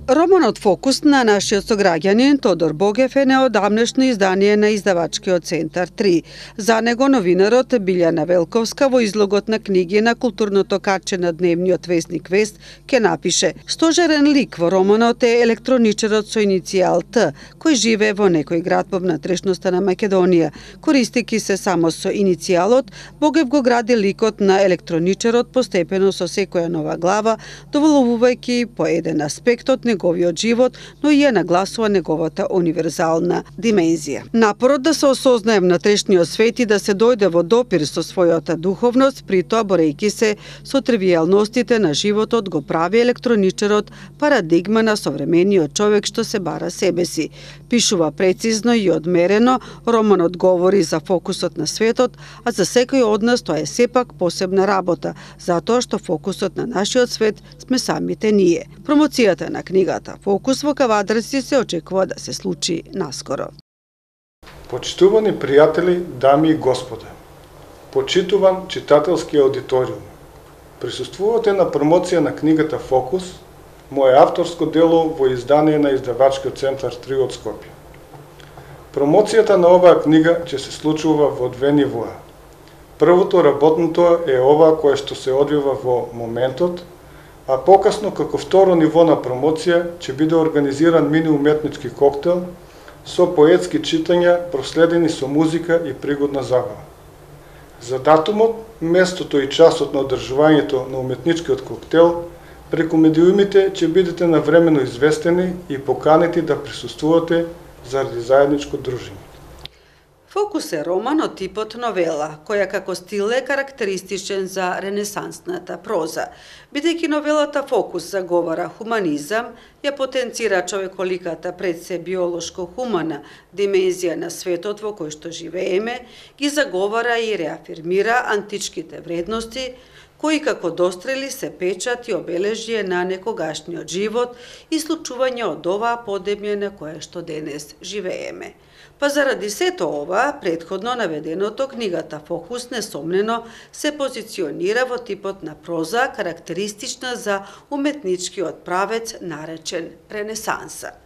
Романот Фокус на нашиот сограѓанин Тодор Богев е неодамнешно издание на издавачкиот центар 3. За него новинарот Билјана Велковска во излогот на книги на културното каче на дневниот весник Вест ке напише: стожерен лик во романот е електроничарот со иницијал Т, кој живее во некој град во внатрешноста на Македонија. Користејќи се само со иницијалот, Богев го гради ликот на електроничарот постепено со секоја нова глава, доволувувајќи по еден аспект од неговиот живот, но и ја нагласува неговата универзална димензија. Напорот да се осознае внатрешниот свет и да се дојде во допир со својата духовност, при тоа борејќи се со тривијалностите на животот, го прави електроничарот парадигма на современиот човек што се бара себе си. Пишува прецизно и одмерено, романот говори за фокусот на светот, а за секој од нас тоа е сепак посебна работа, затоа што фокусот на нашиот свет сме самите ние. Промоцијата на книгата Фокус во Кавадарци се очекува да се случи наскоро. Почитувани пријатели, дами и господа, почитуван читателски аудиториум, присуствувате на промоција на книгата Фокус, мое авторско дело во издание на издавачкиот центар 3 од Скопје. Промоцијата на оваа книга ќе се случува во две нивоа. Првото работното е ова кое што се одвива во моментот, а покасно како второ ниво на промоција ќе биде организиран мини уметнички коктел со поетски читања проследени со музика и пригодна забава. За датумот, местото и часот на одржувањето на уметничкиот коктел преку медиумите ќе бидете навремено известени и поканети да присуствувате заради заедничко дружење. Фокус е роман од типот новела, која како стил е карактеристичен за ренесансната проза. Бидејќи новелата Фокус заговара хуманизам, ја потенцира човеколиката пред се биолошко-хумана димензија на светот во кој што живееме, ги заговара и реафирмира античките вредности, кои како дострели се печат и обележје на некогашниот живот и случување од оваа подебње на кое што денес живееме. Па заради сето ова, претходно наведеното, книгата Фокус несомнено се позиционира во типот на проза карактеристична за уметничкиот правец наречен Ренесанса.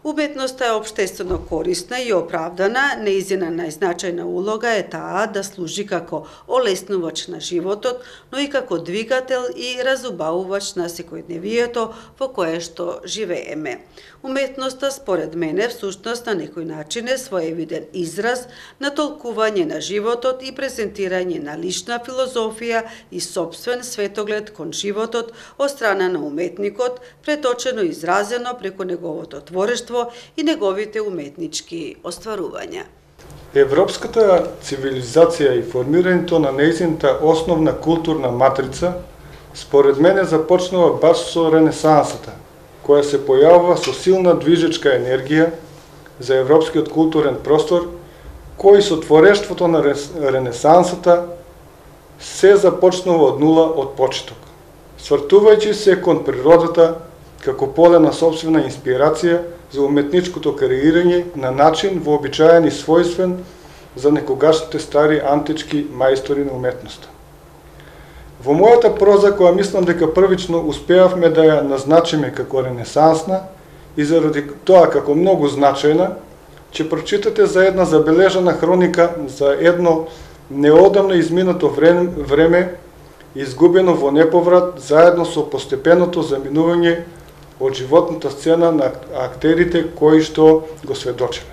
Уметноста е општествено корисна и оправдана, неизина најзначајна улога е таа да служи како олеснувач на животот, но и како двигател и разубавувач на секојдневието во кое што живееме. Уметноста, според мене, всушност на некој начин е своевиден израз на толкување на животот и презентирање на лична филозофија и сопствен светоглед кон животот од страна на уметникот, преточено и изразено преку неговото творештво и неговите уметнички остварувања. Европската цивилизација и формирањето на нејзината основна културна матрица, според мене, започнува баш со Ренесансата, која се појавува со силна движечка енергија за европскиот културен простор, кој со творештвото на Ренесансата се започнува од нула од почеток, свртувајќи се кон природата како поле на собствена инспирација за уметничкото креирање на начин вообичаен и својствен за некогашните стари антички мајстори на уметноста. Во мојата проза, која мислам дека првично успеавме да ја назначиме како ренесансна и заради тоа како многу значајна, ќе прочитате за една забележана хроника за едно неодамно изминато време, изгубено во неповрат, заедно со постепеното заминување од животната сцена на актерите кои што го сведочеле.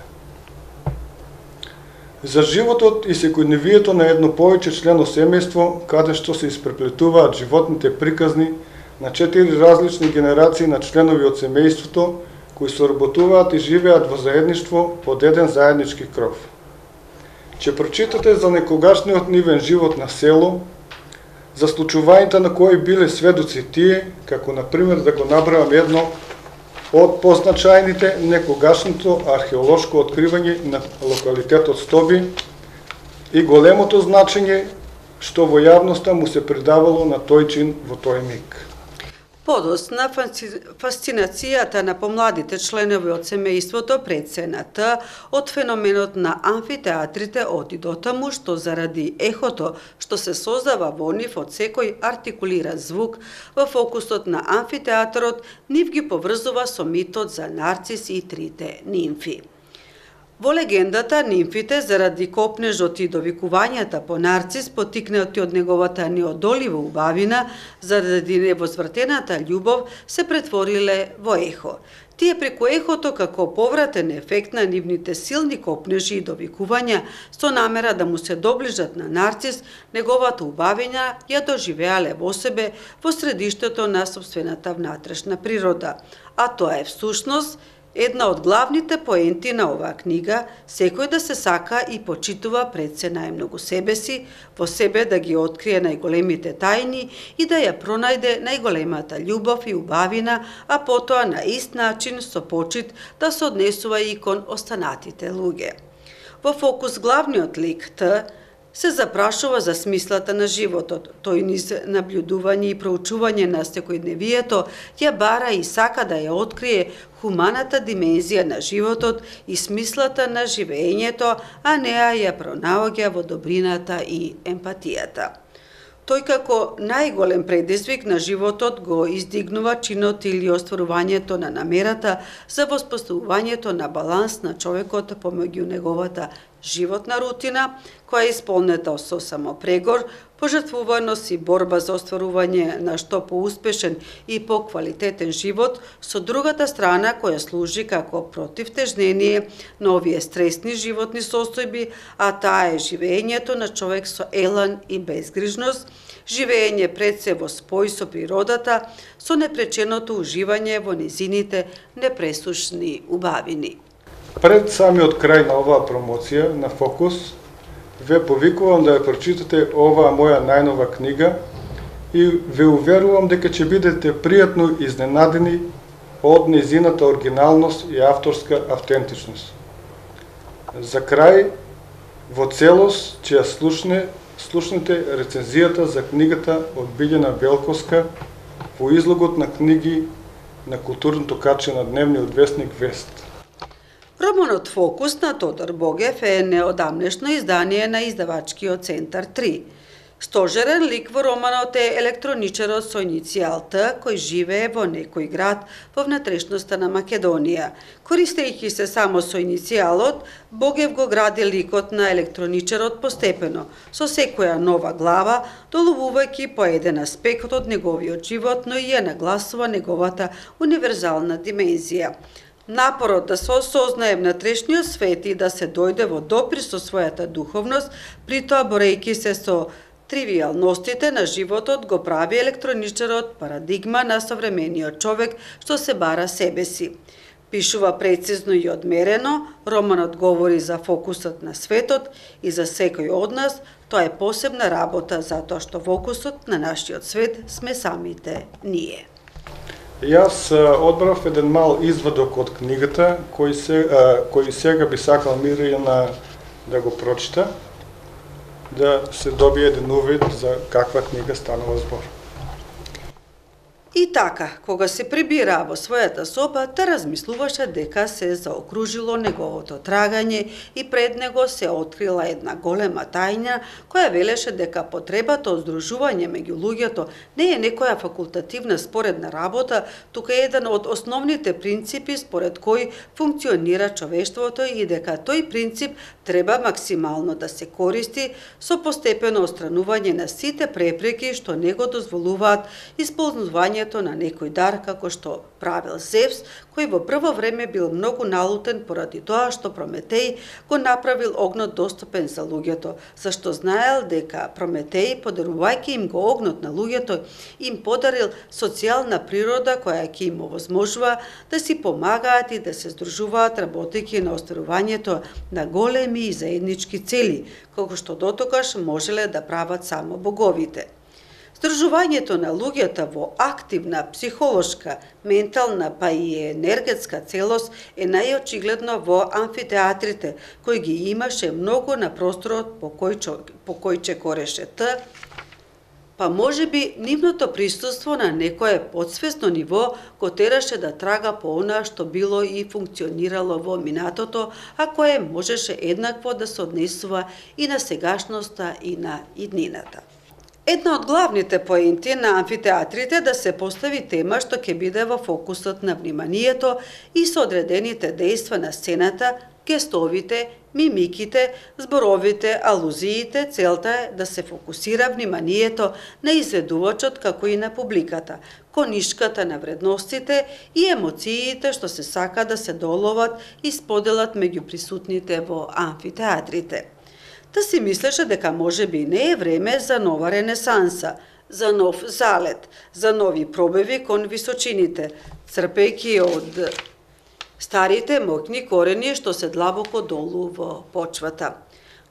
За животот и секојдневието на едно повеќе члено семејство, каде што се испреплетуваат животните приказни на 4 различни генерации на членови од семејството, кои соработуваат и живеат во заедништво под еден заеднички кров. Ќе прочитате за некогашниот нивен живот на село, за случувањата на кои биле сведоци тие, како например да го набравам едно од позначајните, некогашното археолошко откривање на локалитетот Стоби и големото значење што во јавноста му се придавало на тој чин во тој миг. Подосна фасцинацијата на помладите членови од семејството пред се на Т од феноменот на амфитеатрите оди до таму што заради ехото што се создава во нив од секој артикулиран звук во фокусот на амфитеатрот нив ги поврзува со митот за Нарцис и трите нимфи. Во легендата, нимфите, заради копнежот и довикувањата по Нарцис, потикнати од неговата неодолива убавина, заради невозвратената љубов, се претвориле во ехо. Тие преку ехото, како повратен ефект на нивните силни копнежи и довикувања, со намера да му се доближат на Нарцис, неговата убавина ја доживеале во себе во средиштето на сопствената внатрешна природа. А тоа е всушност една од главните поенти на оваа книга, секој да се сака и почитува пред се најмногу себе си, во себе да ги открие најголемите тајни и да ја пронајде најголемата љубов и убавина, а потоа на ист начин со почит да се однесува и кон останатите луѓе. Во фокус главниот лик Т се запрашува за смислата на животот. Тој низ наблюдување и проучување на секојдневието ја бара и сака да ја открие хуманата димензија на животот и смислата на живеењето, а неа ја пронаоѓа во добрината и емпатијата. Тој како најголем предизвик на животот го издигнува чинот или остварувањето на намерата за воспоставувањето на баланс на човекот помеѓу неговата животна рутина, која е исполнета со самопрегор, пожртвуваност и борба за остварување на што поуспешен и поквалитетен живот, со другата страна која служи како противтежнение на овие стресни животни состојби, а таа е живеењето на човек со елан и безгрижност, живеење пред се во спој со природата, со непреченото уживање во незините непресушни убавини. Пред самиот крај на оваа промоција на Фокус, ве повикувам да ја прочитате оваа моја најнова книга и ве уверувам дека ќе бидете пријатно изненадени од нејзината оригиналност и авторска автентичност. За крај, во целост ќе ја слушнете рецензијата за книгата од Билјана Велковска во излогот на книги на културното каче на дневниот весник Вест. Романот Фокус на Тодор Богев е неодамнешно издание на издавачкиот центар 3. Стожерен лик во романот е електроничарот со иницијал Т, кој живее во некој град во внатрешноста на Македонија. Користејќи се само со иницијалот, Богев го гради ликот на електроничарот постепено, со секоја нова глава, доловувајќи по еден аспект од неговиот живот, но и ја нагласува неговата универзална димензија. Напорот да се осознае внатрешниот свет и да се дојде во допир со својата духовност, притоа борејќи се со тривијалностите на животот, го прави електроничарот парадигма на современиот човек што се бара себе си. Пишува прецизно и одмерено, романот говори за фокусот на светот и за секој од нас, тоа е посебна работа затоа што фокусот на нашиот свет сме самите ние. Јас одбрав еден мал извадок од книгата, кој сега би сакал Мирјана да го прочита, да се добие еден увид за каква книга станува збор. И така, кога се прибира во својата соба, та размислуваше дека се заокружило неговото трагање и пред него се открила една голема тајна, која велеше дека потребата од здружување меѓу луѓето не е некоја факултативна споредна работа, туку е еден од основните принципи според кој функционира човештвото и дека тој принцип треба максимално да се користи со постепено отстранување на сите препреки што не го дозволуваат исполнување на некој дар како што правил Зевс, кој во прво време бил многу налутен поради тоа што Прометеј го направил огнот достапен за луѓето, зашто знаел дека Прометеј, подарувајќи им го огнот на луѓето, им подарил социјална природа која ќе им овозможува да си помагаат и да се здружуваат работејќи на остварувањето на големи и заеднички цели, како што дотогаш можеле да прават само боговите. Здружувањето на луѓето во активна, психолошка, ментална па и енергетска целост е најочигледно во амфитеатрите, кои ги имаше многу на просторот по кој чекореше Т, па можеби нивното присуство на некое подсвесно ниво го тераше да трага по она што било и функционирало во минатото, а кое можеше еднакво да се однесува и на сегашноста и на иднината. Една од главните поенти на амфитеатрите да се постави тема што ќе биде во фокусот на вниманието и со одредените дејства на сцената, гестовите, мимиките, зборовите, алузиите, целта е да се фокусира вниманието на изведувачот како и на публиката, конишката на вредностите и емоциите што се сака да се доловат и споделат меѓу присутните во амфитеатрите. Та си мислеше дека можеби не е време за нова ренесанса, за нов залет, за нови пробеви кон височините, црпејќи од старите моќни корени што се длабоко долу во почвата.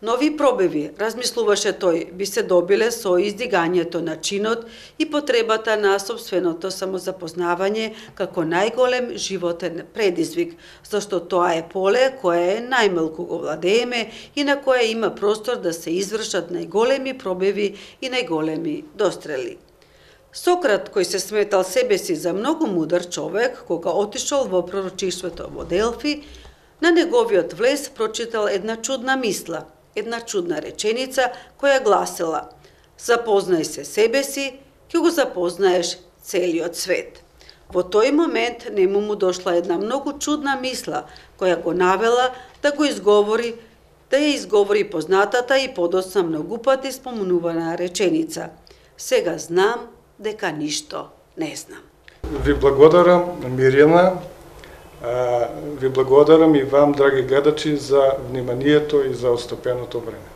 Нови пробеви, размислуваше тој, би се добиле со издигањето на чинот и потребата на сопственото самозапознавање како најголем животен предизвик, зашто тоа е поле кое е најмалку го владееме и на кое има простор да се извршат најголеми пробеви и најголеми дострели. Сократ, кој се сметал себе си за многу мудар човек, кога отишол во пророчиштвото во Делфи, на неговиот влез прочитал една чудна мисла, една чудна реченица која гласела: "Запознај се себе си, ќе го запознаеш целиот свет." Во тој момент нему му дошла една многу чудна мисла која го навела да ја изговори познатата и подоцна многу пати спомнувана реченица: "Сега знам дека ништо не знам." Ви благодарам, Мирјана. Ви благодарам и вам, драги гледачи, за вниманието и за отстапеното време.